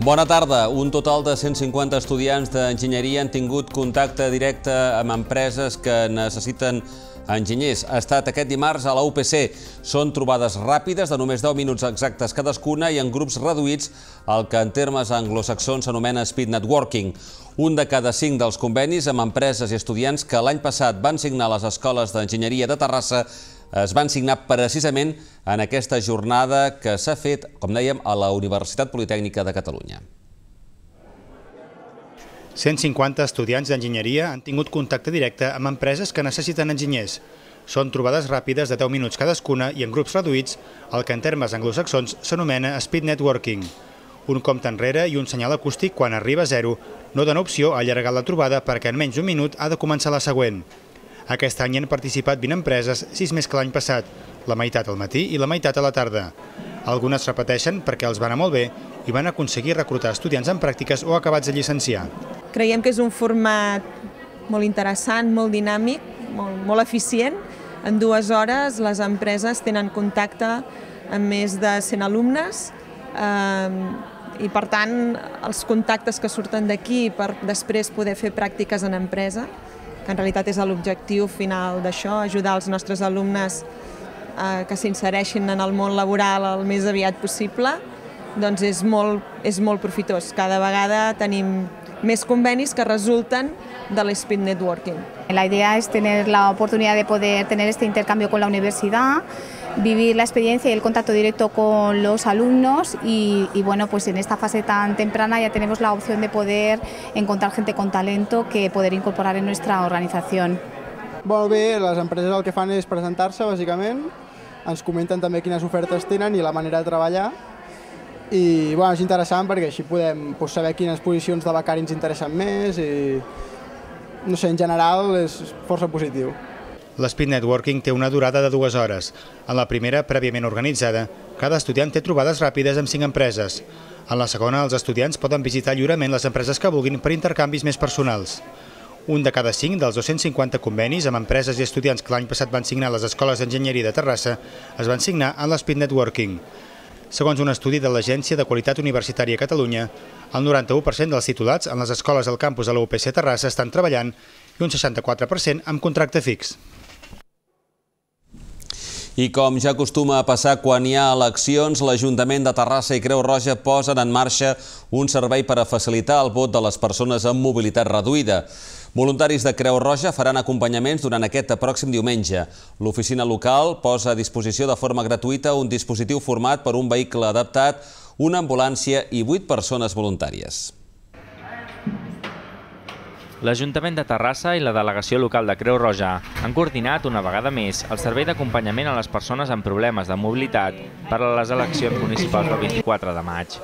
Bona tarda. Un total de 150 estudiants d'enginyeria han tingut contacte directe amb empreses que necessiten enginyers. Ha estat aquest dimarts a la UPC. Són trobades ràpides de només 10 minuts exactes cadascuna i en grups reduïts, el que en termes anglosaxons s'anomena speed networking. Un de cada 5 dels convenis amb empreses i estudiants que l'any passat van signar a les escoles d'enginyeria de Terrassa es van signar precisament en aquesta jornada que s'ha fet, com dèiem, a la Universitat Politècnica de Catalunya. 150 estudiants d'enginyeria han tingut contacte directe amb empreses que necessiten enginyers. Són trobades ràpides de 10 minuts cadascuna i en grups reduïts, el que en termes anglosaxons s'anomena speed networking. Un compte enrere i un senyal acústic quan arriba a 0 no dona opció a allargar la trobada perquè en menys d'un minut ha de començar la següent. Aquest any han participat 20 empreses, 6 més que l'any passat, la meitat al matí i la meitat a la tarda. Algunes repeteixen perquè els va anar molt bé i van aconseguir reclutar estudiants en pràctiques o acabats de llicenciar. Creiem que és un format molt interessant, molt dinàmic, molt eficient. En 2 hores les empreses tenen contacte amb més de 100 alumnes i per tant els contactes que surten d'aquí per després poder fer pràctiques en empresa, que en realitat és l'objectiu final d'això, ajudar els nostres alumnes que s'insereixin en el món laboral el més aviat possible, doncs és molt profitós. Cada vegada tenim més convenis que resulten de l'speed networking. La idea es tener la oportunidad de poder tener este intercambio con la universidad, vivir la experiencia y el contacto directo con los alumnos y bueno, pues en esta fase tan temprana ya tenemos la opción de poder encontrar gente con talento que poder incorporar en nuestra organización. Molt bé, les empreses el que fan és presentar-se, bàsicament, ens comenten també quines ofertes tenen i la manera de treballar i bueno, és interessant perquè així podem saber quines posicions de becari ens interessen més i no sé, en general és força positiu. L'Speed Networking té una durada de 2 hores. En la primera, prèviament organitzada, cada estudiant té trobades ràpides amb 5 empreses. En la segona, els estudiants poden visitar lliurement les empreses que vulguin per intercanvis més personals. Un de cada 5 dels 250 convenis amb empreses i estudiants que l'any passat van signar a les escoles d'enginyeria de Terrassa es van signar en l'Speed Networking. Segons un estudi de l'Agència de Qualitat Universitària a Catalunya, el 91% dels titulats en les escoles del campus de la UPC Terrassa estan treballant i un 64% amb contracte fix. I com ja acostuma a passar quan hi ha eleccions, l'Ajuntament de Terrassa i Creu Roja posen en marxa un servei per a facilitar el vot de les persones amb mobilitat reduïda. Voluntaris de Creu Roja faran acompanyaments durant aquest pròxim diumenge. L'oficina local posa a disposició de forma gratuïta un dispositiu format per un vehicle adaptat, una ambulància i 8 persones voluntàries. L'Ajuntament de Terrassa i la delegació local de Creu Roja han coordinat una vegada més el servei d'acompanyament a les persones amb problemes de mobilitat per a les eleccions municipals del 24 de maig.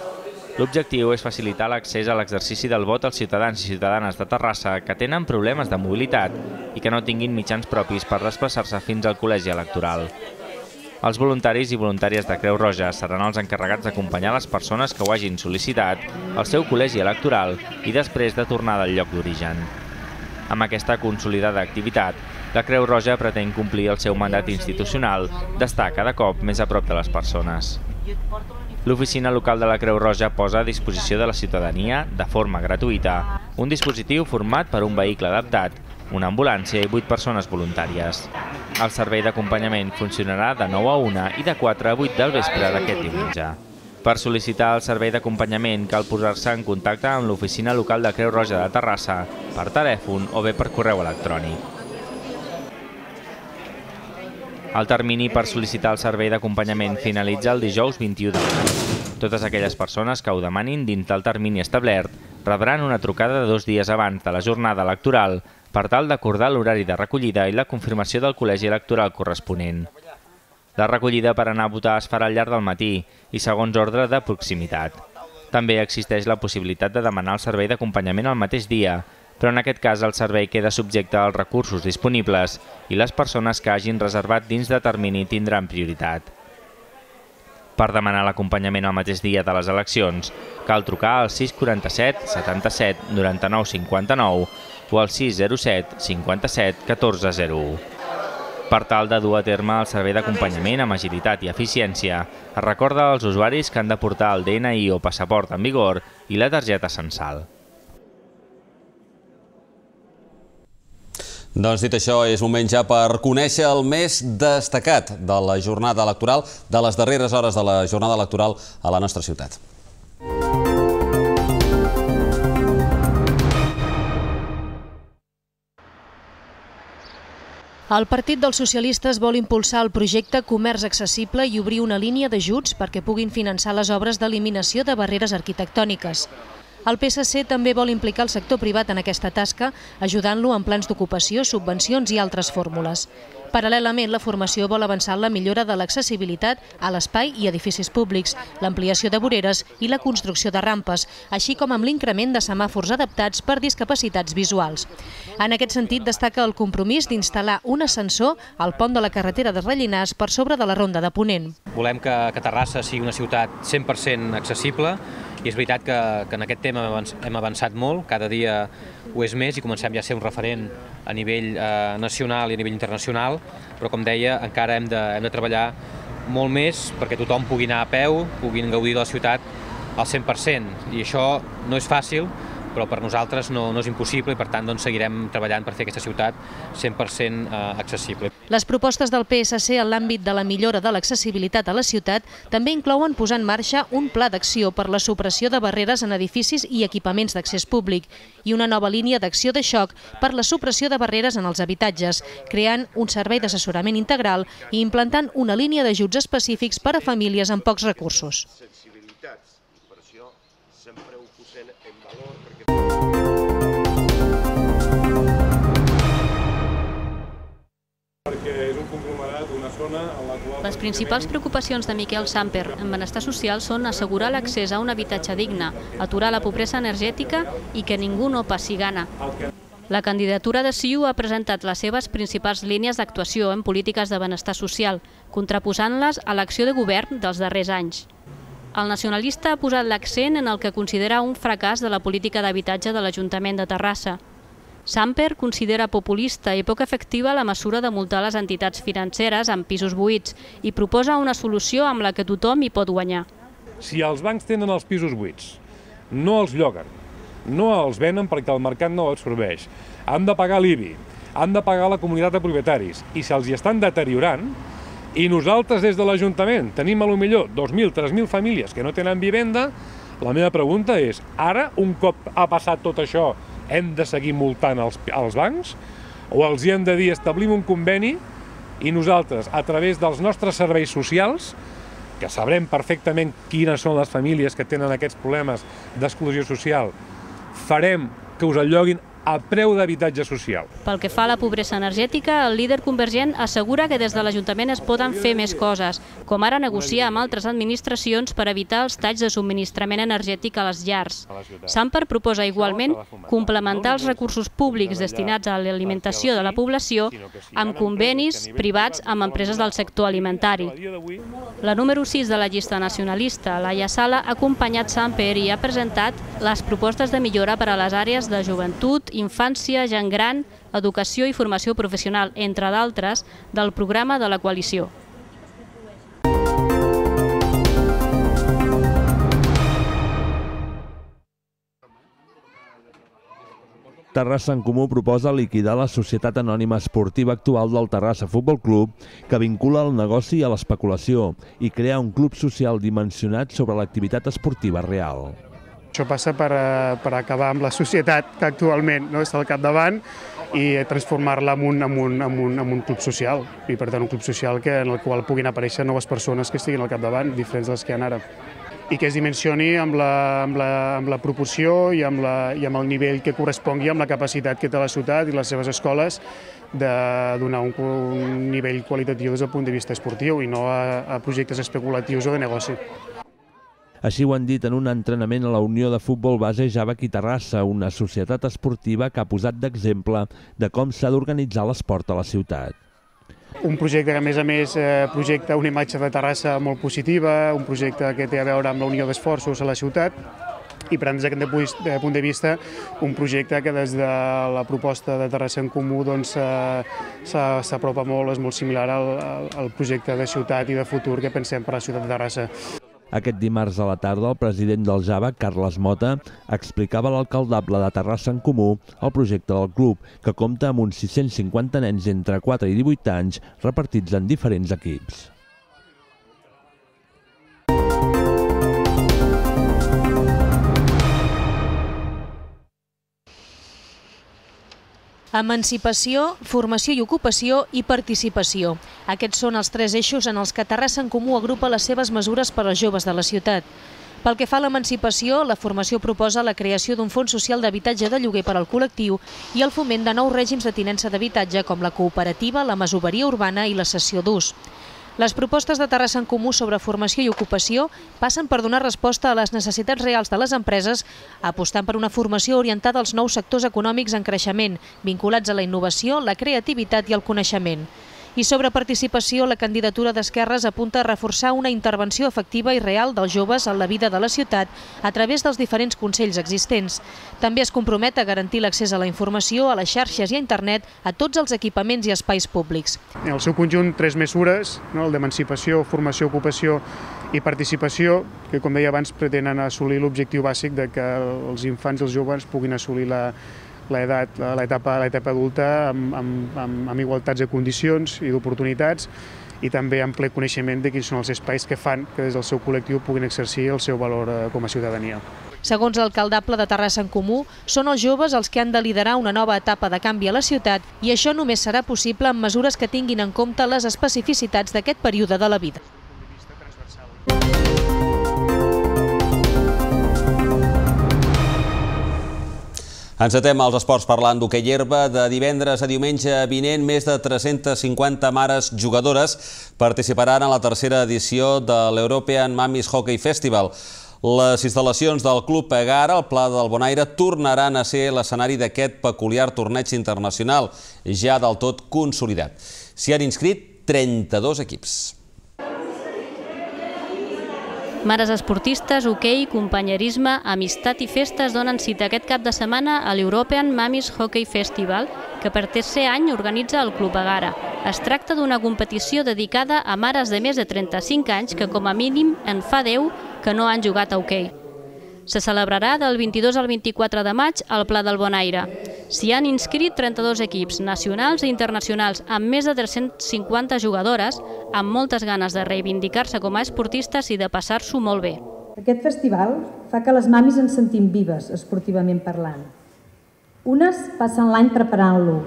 L'objectiu és facilitar l'accés a l'exercici del vot als ciutadans i ciutadanes de Terrassa que tenen problemes de mobilitat i que no tinguin mitjans propis per desplaçar-se fins al col·legi electoral. Els voluntaris i voluntàries de Creu Roja seran els encarregats d'acompanyar les persones que ho hagin sol·licitat al seu col·legi electoral i després de tornar del lloc d'origen. Amb aquesta consolidada activitat, la Creu Roja pretén complir el seu mandat institucional d'estar cada cop més a prop de les persones. L'oficina local de la Creu Roja posa a disposició de la ciutadania, de forma gratuïta, un dispositiu format per un vehicle adaptat, una ambulància i 8 persones voluntàries. El servei d'acompanyament funcionarà de 9 a 1 i de 4 a 8 del vespre d'aquest diumenge. Per sol·licitar el servei d'acompanyament cal posar-se en contacte amb l'oficina local de Creu Roja de Terrassa per telèfon o bé per correu electrònic. El termini per sol·licitar el servei d'acompanyament finalitza el dijous 21 de maig. Totes aquelles persones que ho demanin dins del termini establert rebran una trucada de 2 dies abans de la jornada electoral per tal d'acordar l'horari de recollida i la confirmació del col·legi electoral corresponent. La recollida per anar a votar es farà al llarg del matí i segons ordre de proximitat. També existeix la possibilitat de demanar el servei d'acompanyament el mateix dia, però en aquest cas el servei queda subjecte als recursos disponibles i les persones que hagin reservat dins de termini tindran prioritat. Per demanar l'acompanyament el mateix dia de les eleccions, cal trucar al 647 77 99 59 o al 607 57 14 01. per tal de dur a terme el servei d'acompanyament amb agilitat i eficiència. Es recorda als usuaris que han de portar el DNI o passaport en vigor i la targeta censal. Doncs dit això, és moment ja per conèixer el més destacat de la jornada electoral, de les darreres hores de la jornada electoral a la nostra ciutat. El Partit dels Socialistes vol impulsar el projecte Comerç Accessible i obrir una línia d'ajuts perquè puguin finançar les obres d'eliminació de barreres arquitectòniques. El PSC també vol implicar el sector privat en aquesta tasca, ajudant-lo en plans d'ocupació, subvencions i altres fórmules. Paral·lelament, la formació vol avançar en la millora de l'accessibilitat a l'espai i edificis públics, l'ampliació de voreres i la construcció de rampes, així com amb l'increment de semàfors adaptats per discapacitats visuals. En aquest sentit, destaca el compromís d'instal·lar un ascensor al pont de la carretera de Rellinars per sobre de la Ronda de Ponent. Volem que Terrassa sigui una ciutat 100% accessible, i és veritat que en aquest tema hem avançat molt, cada dia ho és més i comencem ja a ser un referent a nivell nacional i a nivell internacional, però com deia, encara hem de treballar molt més perquè tothom pugui anar a peu, puguin gaudir de la ciutat al 100%, i això no és fàcil, però per nosaltres no és impossible i per tant seguirem treballant per fer aquesta ciutat 100% accessible. Les propostes del PSC en l'àmbit de la millora de l'accessibilitat a la ciutat també inclouen posar en marxa un pla d'acció per la supressió de barreres en edificis i equipaments d'accés públic i una nova línia d'acció de xoc per la supressió de barreres en els habitatges, creant un servei d'assessorament integral i implantant una línia d'ajuts específics per a famílies amb pocs recursos. Les principals preocupacions de Miquel Samper en benestar social són assegurar l'accés a un habitatge digne, aturar la pobresa energètica i que ningú no passi gana. La candidatura de CiU ha presentat les seves principals línies d'actuació en polítiques de benestar social, contraposant-les a l'acció de govern dels darrers anys. El nacionalista ha posat l'accent en el que considera un fracàs de la política d'habitatge de l'Ajuntament de Terrassa. Samper considera populista i poc efectiva la mesura de multar les entitats financeres amb pisos buits i proposa una solució amb la que tothom hi pot guanyar. Si els bancs tenen els pisos buits, no els lloguen, no els venen perquè el mercat no els absorbeix, han de pagar l'IBI, han de pagar la comunitat de propietaris i se'ls hi estan deteriorant, i nosaltres des de l'Ajuntament tenim potser 2.000, 3.000 famílies que no tenen vivenda, la meva pregunta és, ara, un cop ha passat tot això, hem de seguir multant els bancs o els hi hem de dir establim un conveni i nosaltres, a través dels nostres serveis socials, que sabrem perfectament quines són les famílies que tenen aquests problemes d'exclusió social, farem que us alloguin a preu d'habitatge social. Pel que fa a la pobresa energètica, el líder convergent assegura que des de l'Ajuntament es poden fer més coses, com ara negociar amb altres administracions per evitar els talls de subministrament energètic a les llars. Samper proposa igualment complementar els recursos públics destinats a l'alimentació de la població amb convenis privats amb empreses del sector alimentari. La número 6 de la llista nacionalista, Laia Sala, ha acompanyat Samper i ha presentat les propostes de millora per a les àrees de joventut, infància, gent gran, educació i formació professional, entre d'altres, del programa de la coalició. Terrassa en Comú proposa liquidar la societat anònima esportiva actual del Terrassa Futbol Club, que vincula el negoci a l'especulació i crear un club social dimensionat sobre l'activitat esportiva real. Això passa per acabar amb la societat que actualment està al capdavant i transformar-la en un club social, i per tant un club social en el qual puguin aparèixer noves persones que estiguin al capdavant, diferents de les que hi ha ara, i que es dimensioni amb la proporció i amb el nivell que correspongui amb la capacitat que té la ciutat i les seves escoles de donar un nivell qualitatiu des del punt de vista esportiu i no a projectes especulatius o de negoci. Així ho han dit en un entrenament a la Unió de Futbol Base Javac i Terrassa, una societat esportiva que ha posat d'exemple de com s'ha d'organitzar l'esport a la ciutat. Un projecte que, a més, projecta una imatge de Terrassa molt positiva, un projecte que té a veure amb la unió d'esforços a la ciutat i per tant, des d'aquest punt de vista, un projecte que des de la proposta de Terrassa en Comú s'apropa molt, és molt similar al projecte de ciutat i de futur que pensem per a la ciutat de Terrassa. Aquest dimarts a la tarda, el president del Java, Carles Mota, explicava a l'alcaldable de Terrassa en Comú el projecte del club, que compta amb uns 650 nens entre 4 i 18 anys repartits en diferents equips. Emancipació, formació i ocupació i participació. Aquests són els 3 eixos en els que Terrassa en Comú agrupa les seves mesures per als joves de la ciutat. Pel que fa a l'emancipació, la formació proposa la creació d'un fons social d'habitatge de lloguer per al col·lectiu i el foment de nous règims de tinença d'habitatge com la cooperativa, la masoveria urbana i la cessió d'ús. Les propostes de Terrassa en Comú sobre formació i ocupació passen per donar resposta a les necessitats reals de les empreses, apostant per una formació orientada als nous sectors econòmics en creixement, vinculats a la innovació, la creativitat i el coneixement. I sobre participació, la candidatura d'Esquerres apunta a reforçar una intervenció efectiva i real dels joves en la vida de la ciutat a través dels diferents consells existents. També es compromet a garantir l'accés a la informació, a les xarxes i a internet, a tots els equipaments i espais públics. En el seu conjunt, 3 mesures, el d'emancipació, formació, ocupació i participació, que com deia abans pretenen assolir l'objectiu bàsic de que els infants i els joves puguin assolir l'etapa adulta amb igualtats de condicions i d'oportunitats i també amb ple coneixement de quins són els espais que fan que des del seu col·lectiu puguin exercir el seu valor com a ciutadania. Segons l'alcaldable de Terrassa en Comú, són els joves els que han de liderar una nova etapa de canvi a la ciutat i això només serà possible amb mesures que tinguin en compte les especificitats d'aquest període de la vida. Encetem els esports parlant d'hoquei herba. De divendres a diumenge vinent, més de 350 mares jugadores participaran en la tercera edició de l'European Mamis Hockey Festival. Les instal·lacions del Club Egara, al Pla del Bonaire, tornaran a ser l'escenari d'aquest peculiar torneig internacional, ja del tot consolidat. S'hi han inscrit 32 equips. Mares esportistes, hoquei, companyerisme, amistat i festes donen cita aquest cap de setmana a l'European Mamis Hockey Festival, que per tercer any organitza el Club Egara. Es tracta d'una competició dedicada a mares de més de 35 anys que com a mínim en fa 10 que no han jugat a hoquei. Se celebrarà del 22 al 24 de maig al Pla del Bonaire. S'hi han inscrit 32 equips nacionals i internacionals amb més de 350 jugadores, amb moltes ganes de reivindicar-se com a esportistes i de passar-s'ho molt bé. Aquest festival fa que les mamis ens sentim vives, esportivament parlant. Unes passen l'any preparant-lo,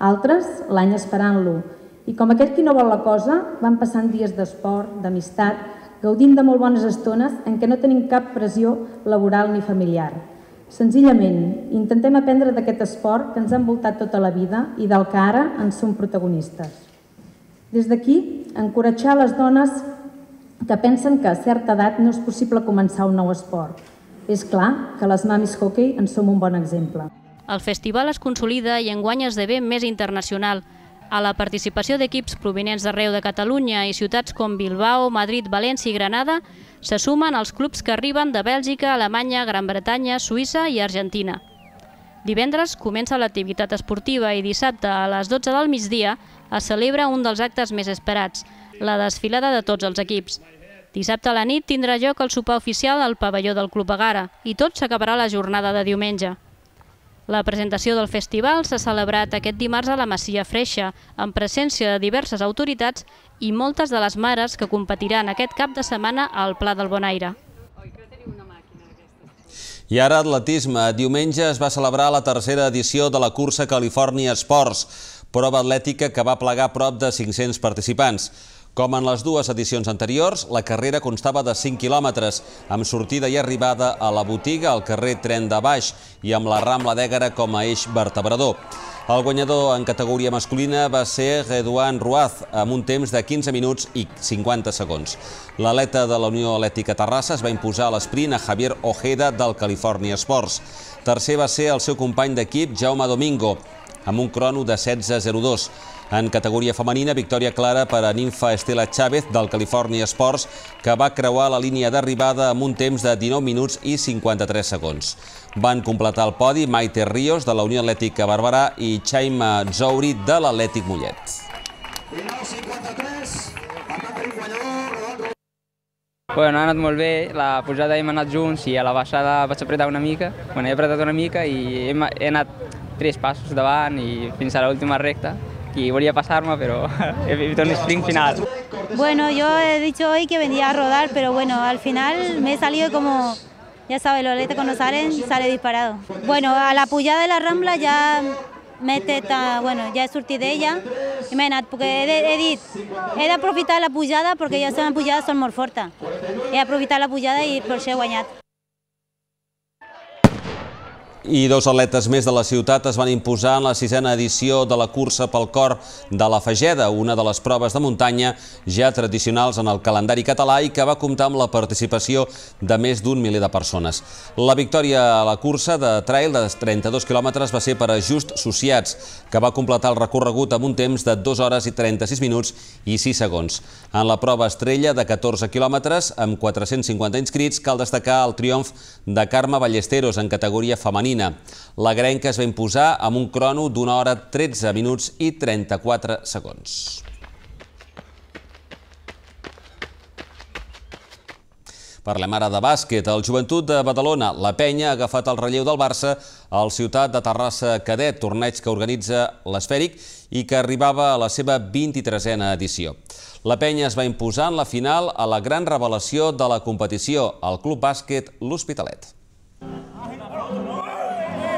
altres l'any esperant-lo, i com aquell qui no vol la cosa, van passant dies d'esport, d'amistat, gaudint de molt bones estones en què no tenim cap pressió laboral ni familiar. Senzillament, intentem aprendre d'aquest esport que ens ha envoltat tota la vida i del que ara en som protagonistes. Des d'aquí, encoratjar les dones que pensen que a certa edat no és possible començar un nou esport. És clar que les mamis hockey en som un bon exemple. El festival es consolida i enguany esdevé més internacional. A la participació d'equips provinents d'arreu de Catalunya i ciutats com Bilbao, Madrid, València i Granada se sumen els clubs que arriben de Bèlgica, Alemanya, Gran Bretanya, Suïssa i Argentina. Divendres comença l'activitat esportiva i dissabte a les 12 del migdia es celebra un dels actes més esperats, la desfilada de tots els equips. Dissabte a la nit tindrà lloc el sopar oficial al pavelló del Club Egara i tot s'acabarà la jornada de diumenge. La presentació del festival s'ha celebrat aquest dimarts a la Masia Freixa, amb presència de diverses autoritats i moltes de les mares que competiran aquest cap de setmana al Pla del Bonaire. I ara atletisme. Diumenge es va celebrar la tercera edició de la cursa California Sports, prova atlètica que va plegar prop de 500 participants. Com en les dues edicions anteriors, la carrera constava de 5 quilòmetres, amb sortida i arribada a la botiga al carrer Tren de Baix i amb la Rambla d'Ègara com a eix vertebrador. El guanyador en categoria masculina va ser Redouan Ruaz, amb un temps de 15 minuts i 50 segons. L'atleta de la Unió Atlètica Terrassa es va imposar a l'esprint a Javier Ojeda del California Sports. Tercer va ser el seu company d'equip, Jaume Domingo. amb un crono de 16:02. En categoria femenina, victòria clara per a Ninfa Estela Chávez del California Sports, que va creuar la línia d'arribada amb un temps de 19 minuts i 53 segons. Van completar el podi Maite Ríos, de la Unió Atlètica Barberà, i Chaima Zouri, de l'Atlètic Mollet. Bueno, ha anat molt bé, la pujada hem anat junts i a la baixada vaig apretar una mica. Bueno, he apretat una mica i he anat 3 passos davant i fins a l'última recta. Y volia pasarme, pero he vivido un sprint final. Bueno, yo he dicho hoy que vendría a rodar, pero bueno, al final me he salido como, ya sabes, los atletas cuando sale disparado. Bueno, a la pujada de la Rambla ya ya he sortit d'ella i m'he anat, perquè he d'aprofitar la pujada, perquè ja les pujades són molt fortes. He d'aprofitar la pujada i per això he guanyat. I 2 atletes més de la ciutat es van imposar en la 6a edició de la cursa pel cor de la Fageda, una de les proves de muntanya ja tradicionals en el calendari català i que va comptar amb la participació de més d'un miler de persones. La victòria a la cursa de trail de 32 quilòmetres va ser per a Just Sociats, que va completar el recorregut amb un temps de 2 hores i 36 minuts i 6 segons. En la prova estrella de 14 quilòmetres, amb 450 inscrits, cal destacar el triomf de Carme Ballesteros en categoria femenina. La grenca es va imposar amb un crono d'1 hora 13 minuts i 34 segons. Parlem ara de bàsquet. El Joventut de Badalona, la Penya, ha agafat el relleu del Barça al Ciutat de Terrassa Cadet, torneig que organitza l'Esfèric i que arribava a la seva 23a edició. La Penya es va imposar en la final a la gran revelació de la competició, el Club Bàsquet L'Hospitalet.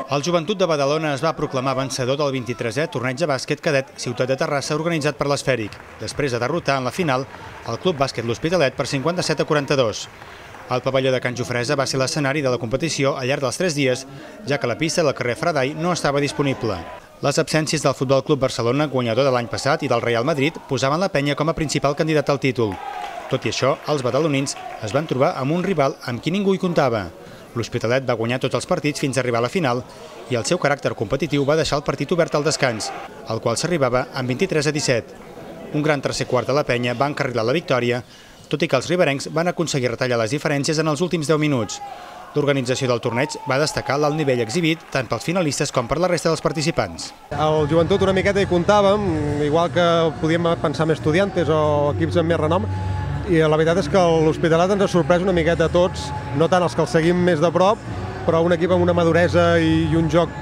El Joventut de Badalona es va proclamar vencedor del 23è torneig de bàsquet cadet Ciutat de Terrassa organitzat per l'Esfèric, després de derrotar en la final el Club Bàsquet L'Hospitalet per 57-42. El pavelló de Can Jofresa va ser l'escenari de la competició al llarg dels 3 dies, ja que la pista del carrer Fradai no estava disponible. Les absències del Futbol Club Barcelona, guanyador de l'any passat, i del Real Madrid posaven la Penya com a principal candidat al títol. Tot i això, els badalonins es van trobar amb un rival amb qui ningú hi comptava. L'Hospitalet va guanyar tots els partits fins a arribar a la final i el seu caràcter competitiu va deixar el partit obert al descans, al qual s'arribava amb 23-17. Un gran tercer quart de la Penya va encarrilar la victòria, tot i que els riberencs van aconseguir retallar les diferències en els últims 10 minuts. L'organització del torneig va destacar l'alt nivell exhibit tant pels finalistes com per la resta dels participants. El Joventut una miqueta hi comptàvem, igual que podíem pensar en Estudiantes o equips amb més renom, i la veritat és que l'Hospitalet ens ha sorprès una miqueta a tots, no tant els que els seguim més de prop, però un equip amb una maduresa i un joc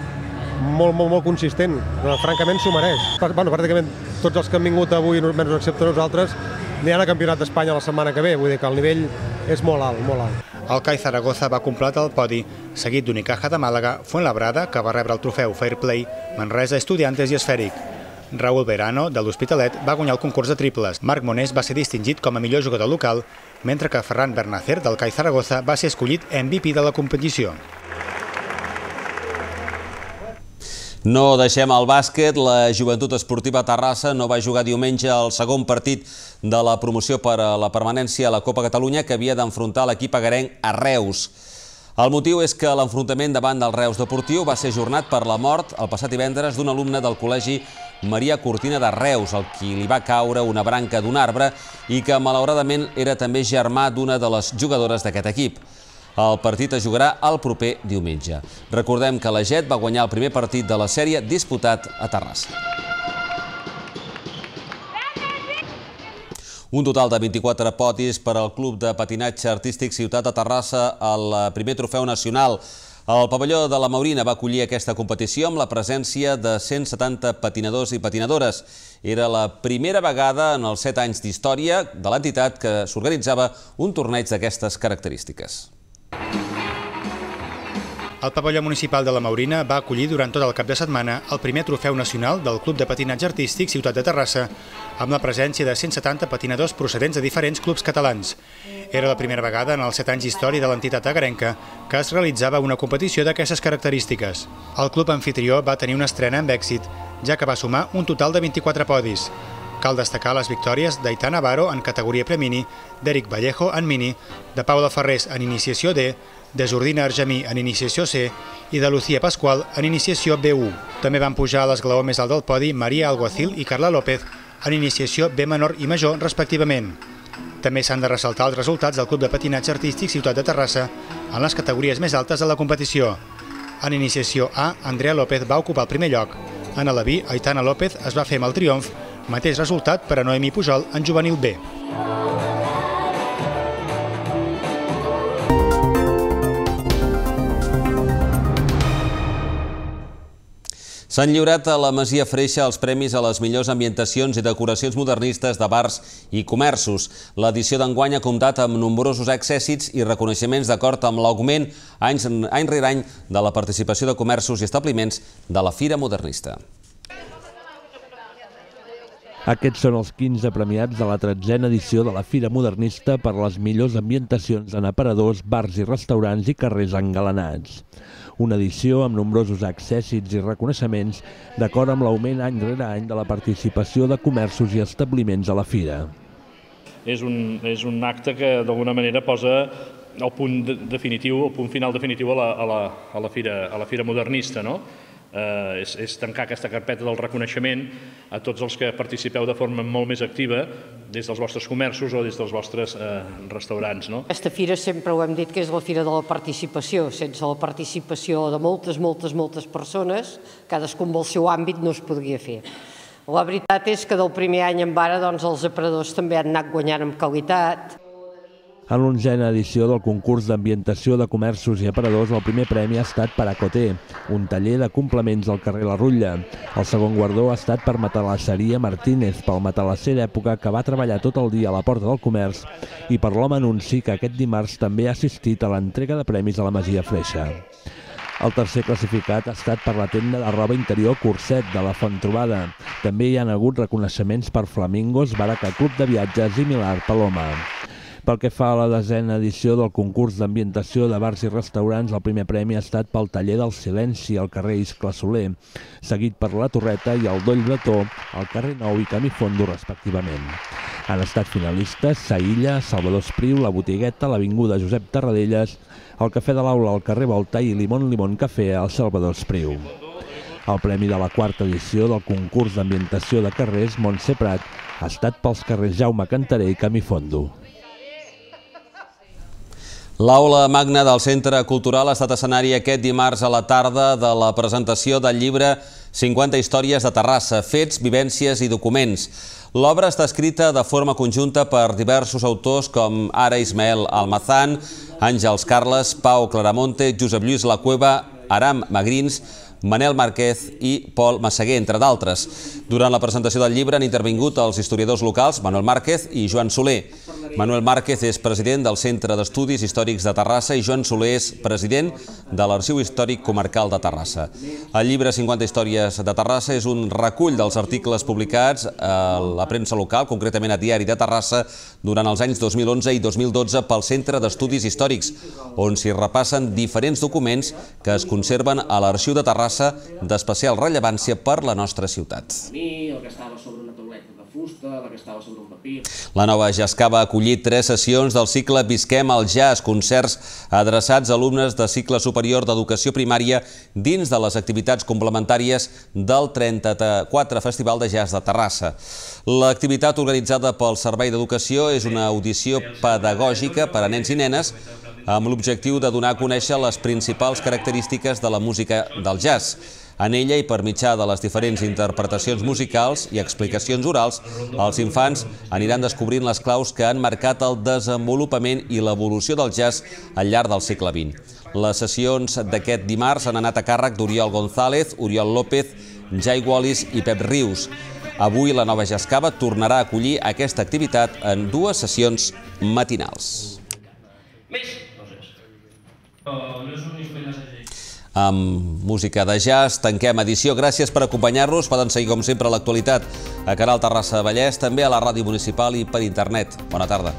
molt consistent. Francament s'ho mereix. Pràcticament tots els que han vingut avui, menys excepte nosaltres, aniran a Campionat d'Espanya la setmana que ve, vull dir que el nivell és molt alt, molt alt. El CAI Zaragoza va completar el podi, seguit d'Unicaja de Màlaga, Fuenlabrada, que va rebre el trofeu Fair Play, Manresa, Estudiantes i Esfèric. Raúl Verano, de l'Hospitalet, va guanyar el concurs de triples. Marc Monés va ser distingit com a millor jugador local, mentre que Ferran Bernacer, del CAI Zaragoza, va ser escollit MVP de la competició. No deixem el bàsquet. La Joventut Esportiva Terrassa no va jugar diumenge el segon partit de la promoció per a la permanència a la Copa Catalunya, que havia d'enfrontar l'equip agarenc a Reus. El motiu és que l'enfrontament davant del Reus Deportiu va ser ajornat per la mort el passat divendres d'un alumne del Col·legi Maria Cortina de Reus, al qui li va caure una branca d'un arbre i que malauradament era també germà d'una de les jugadores d'aquest equip. El partit es jugarà el proper diumenge. Recordem que la Jet va guanyar el primer partit de la sèrie disputat a Terrassa. Un total de 24 podis per al Club de Patinatge Artístic Ciutat de Terrassa al primer trofeu nacional. El pavelló de la Maurina va acollir aquesta competició amb la presència de 170 patinadors i patinadores. Era la primera vegada en els 7 anys d'història de l'entitat que s'organitzava un torneig d'aquestes característiques. El pavelló municipal de la Maurina va acollir durant tot el cap de setmana el primer trofeu nacional del Club de Patinatge Artístic Ciutat de Terrassa, amb la presència de 170 patinadors procedents de diferents clubs catalans. Era la primera vegada en els 7 anys d'història de l'entitat agrenca que es realitzava una competició d'aquestes característiques. El club anfitrió va tenir una estrena amb èxit, ja que va sumar un total de 24 podis. Cal destacar les victòries d'Aità Navarro en categoria premini, d'Eric Vallejo en mini, de Paula Ferrés en iniciació D, de Jordina Argemí en iniciació C i de Lucía Pascual en iniciació B1. També van pujar a l'esglaó més alt del podi Maria Alguacil i Carla López en iniciació B menor i major, respectivament. També s'han de ressaltar els resultats del Club de Patinatge Artístic Ciutat de Terrassa en les categories més altes de la competició. En iniciació A, Andrea López va ocupar el primer lloc. En la B, Aitana López es va fer amb el triomf, mateix resultat per a Noemi Pujol en juvenil B. S'han lliurat a la Masia Freixa els premis a les millors ambientacions i decoracions modernistes de bars i comerços. L'edició d'enguany ha comptat amb nombrosos èxits i reconeixements d'acord amb l'augment any rere any de la participació de comerços i establiments de la Fira Modernista. Aquests són els 15 premiats de la 13a edició de la Fira Modernista per les millors ambientacions en aparadors, bars i restaurants i carrers engalanats. Una edició amb nombrosos èxits i reconeixements d'acord amb l'augment any rere any de la participació de comerços i establiments a la Fira. És un acte que d'alguna manera posa el punt final definitiu a la Fira Modernista, no? És tancar aquesta carpeta del reconeixement a tots els que participeu de forma molt més activa des dels vostres comerços o des dels vostres restaurants. Aquesta fira sempre ho hem dit que és la fira de la participació. Sense la participació de moltes persones, cadascun amb el seu àmbit no es podria fer. La veritat és que del primer any en ara els aparadors també han anat guanyant en qualitat. En l'11a edició del concurs d'ambientació de comerços i aparadors, el primer premi ha estat per a Coté, un taller de complements al carrer La Rutlla. El segon guardó ha estat per Matalasseria Martínez, pel matalasser d'època que va treballar tot el dia a la porta del comerç, i per l'home anunci que aquest dimarts també ha assistit a l'entrega de premis a la Masia Freixa. El tercer classificat ha estat per la tenda de roba interior Curset, de la Fonttrobada. També hi ha hagut reconeixements per Flamingos, Baraca Club de Viatges i Milar Paloma. Pel que fa a la 10a edició del concurs d'ambientació de bars i restaurants, el primer premi ha estat pel taller del Silenci al carrer Iscle Soler, seguit per la Torreta i el Doll Bretó al carrer Nou i Camí Fondo, respectivament. Han estat finalistes Saïlla, Salvador Espriu, la Botigueta, l'Avinguda Josep Tarradellas, el Cafè de l'Aula al carrer Volta i Limón Cafè al Salvador Espriu. El premi de la 4a edició del concurs d'ambientació de carrers Montse Prat ha estat pels carrers Jaume Cantaré i Camí Fondo. L'aula magna del Centre Cultural ha estat escenari aquest dimarts a la tarda de la presentació del llibre 50 històries de Terrassa, fets, vivències i documents. L'obra està escrita de forma conjunta per diversos autors com ara Ismael Almazán, Àngels Carles, Pau Claramonte, Josep Lluís La Cueva, Aram Magrins, Manel Márquez i Pol Massaguer, entre d'altres. Durant la presentació del llibre han intervingut els historiadors locals Manuel Márquez i Joan Soler. Manuel Márquez és president del Centre d'Estudis Històrics de Terrassa i Joan Soler és president de l'Arxiu Històric Comarcal de Terrassa. El llibre 50 històries de Terrassa és un recull dels articles publicats a la premsa local, concretament a Diari de Terrassa, durant els anys 2011 i 2012 pel Centre d'Estudis Històrics, on s'hi repassen diferents documents que es conserven a l'Arxiu de Terrassa d'especial rellevància per la nostra ciutat. El que estava sobre una tauleta de fusta, el que estava sobre un paper. La Nova Jasca va acollir 3 sessions del cicle Visquem el Jazz, concerts adreçats a alumnes de cicle superior d'educació primària dins de les activitats complementàries del 34 Festival de Jazz de Terrassa. L'activitat organitzada pel Servei d'Educació és una audició pedagògica per a nens i nenes amb l'objectiu de donar a conèixer les principals característiques de la música del jazz. En ella i per mitjà de les diferents interpretacions musicals i explicacions orals, els infants aniran descobrint les claus que han marcat el desenvolupament i l'evolució del jazz al llarg del segle XX. Les sessions d'aquest dimarts han anat a càrrec d'Oriol González, Oriol López, Jai Wallis i Pep Rius. Avui la Nova Jascava tornarà a acollir aquesta activitat en 2 sessions matinals. Amb música de jazz tanquem edició. Gràcies per acompanyar-nos. Poden seguir, com sempre, l'actualitat a Canal Terrassa Vallès, també a la ràdio municipal i per internet. Bona tarda.